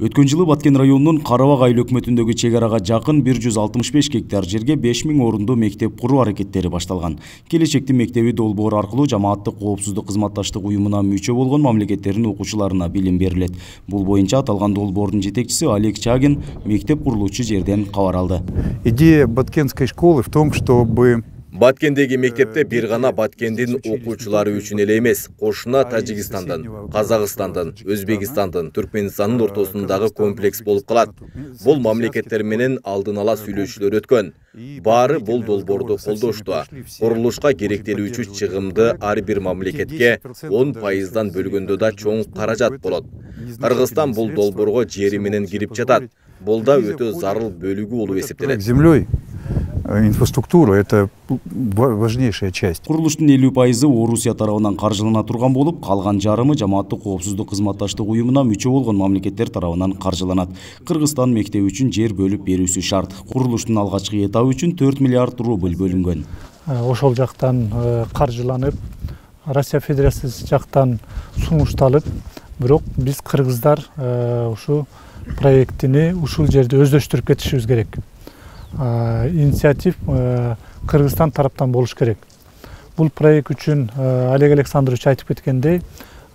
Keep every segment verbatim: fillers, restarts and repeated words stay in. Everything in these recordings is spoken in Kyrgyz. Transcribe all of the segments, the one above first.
Өткөн жылы Баткен районунун Карабак айыл өкмөтүндөгү чек арага жакын бир жүз алтымыш беш гектар жерге беш миң орунду мектеп куруу аракеттери башталган. Келечектин мектеби долбоор аркылуу жамааттык коопсуздук кызматташтык уюмуна мүчө болгон мамлекеттердин окуучуларына билим берилет. Бул боюнча аталган долбоордун жетекчиси Олег Чагин мектеп курулуучу жерден кабар алды. Идея Баткенской школы в том, чтобы Баткендеги мектепте бир гана Баткендин окуучулары үчүн эле эмес, кошуна Тажикстандын, Казакстандын, Өзбекстандын, Түркмөнстандын ортосундагы комплекс болуп калат. Бул мамлекеттер менен алдын ала сүйлөшүүлөр өткөн. Баары бул долбоорду колдошту. Курулушка керектелүүчү чыгымды ар бир мамлекетке он пайыздан бөлгөндө да чоң каражат болот. Кыргызстан бул долбоорго жери менен кирип жатат. Бул да өтө зарыл бөлүгү болуп эсептелет. Инфраструктура — это важнейшая часть. Курулуштун элүү пайызы Орусия тарабынан каржылана турган болуп, калган жарымы жамааттык коопсуздук кызматташтык уюмуна мүчө болгон мамлекеттер тарабынан каржыланат. Кыргызстан мектеби үчүн жер бөлүп берүүсү шарт. Курулуштун алгачкы этабы үчүн төрт миллиард рубль бөлүнгөн. Ошол жактан каржыланып, Россия Федерациясы жактан сунушталып, бирок биз кыргыздар ушу проектини ушул жерде өздөштүрүп кетишибиз керек. Инициатив Кыргызстан тараптан болуш керек. Бул проект үчүн Олег Александрович айтып кеткендей,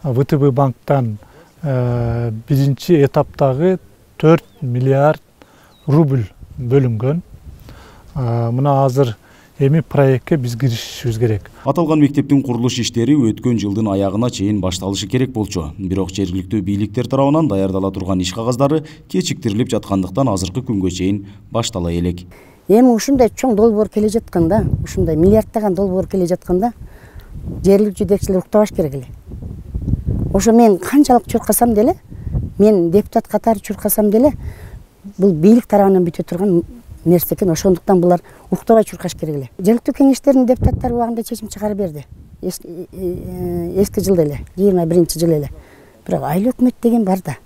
ВТБ банктан биринчи этаптагы төрт миллиард рубль бөлүнгөн. Мына азыр эми проектке биз киришишибиз керек. Аталган мектептин курулуш иштери өткөн жылдын аягына чейин башталышы керек болчу. Бирок жергиликтүү бийликтер тарабынан даярдала турган иш кагаздары кечиктирилип жаткандыктан азыркы күнгө чейин баштала элек. Эми ушундай чоң долбоор келе жатканда, ушундай миллиарддаган долбоор келе жатканда, жергиликтүү жетекчилер уктабаш керек эле. Ошо мен канчалык чуркасам деле, мен депутат катары чуркасам деле, бул бийлик тарабынан бүтө турган нерсе экен. Ошондуктан булар уктабай чуркаш керек эле. Жергиликтүү кеңештердин депутаттары убагында чечим чыгарып берди. Эски жылда эле, жыйырма биринчи жылы эле. Бирок айыл өкмөт деген бар да.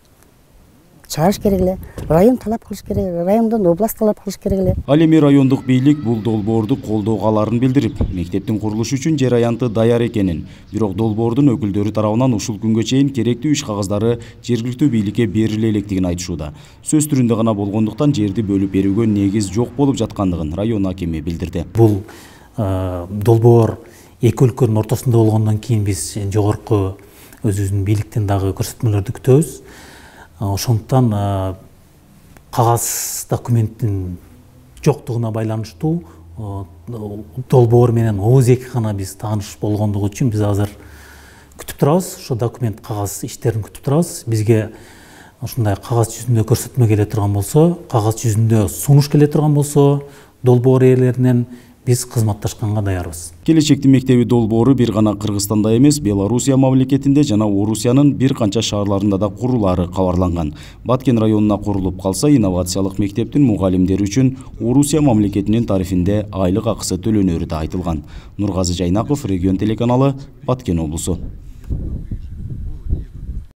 Чыгарыш керек эле. Район талап кылыш керек, райондон область талап кылыш керек эле. Ал эми райондук бийлик бул долбоорду колдоого аларын билдирип, мектептин курулушу үчүн жер аянты даяр экенин, бирок долбоордун өкүлдөрү тарабынан ушул күнгө чейин керектүү иш кагаздары жергиликтүү бийликке бериле электигин айтышууда. Сөз түрүндө гана болгондуктан жерди бөлүп берүүгө негиз жок болуп жаткандыгын район акими билдирди. Бул долбоор эки өлкөнүн ортосунда болгондон кийин биз жогорку өзүбүздүн бийликтен дагы көрсөтмөлөрдү күтөбүз. Ошондуктан кагаз документтин жоктугуна байланыштуу долбоор менен ооз-эки гана биз тааныш болгондугу үчүн биз азыр күтүп турабыз. Ошо документ кагаз иштерин күтүп турабыз. Бизге ушундай кагаз жүзүндө көрсөтмө келе турган болсо, кагаз жүзүндө сунуш келе турган болсо, долбоор ээлеринен биз кызматташканга даярбыз. Келечектин мектеби долбоору бир гана Кыргызстанда эмес, Белоруссия мамлекетинде жана Орусиянын бир канча шаарларында да курулаары кабарланган. Баткен районуна курулуп калса, инновациялык мектептин мугалимдери үчүн Орусия мамлекетинин тарифинде айлык акысы төлөнөрү да айтылган. Нургазы Жайнаков, Регион телеканалы, Баткен облусу.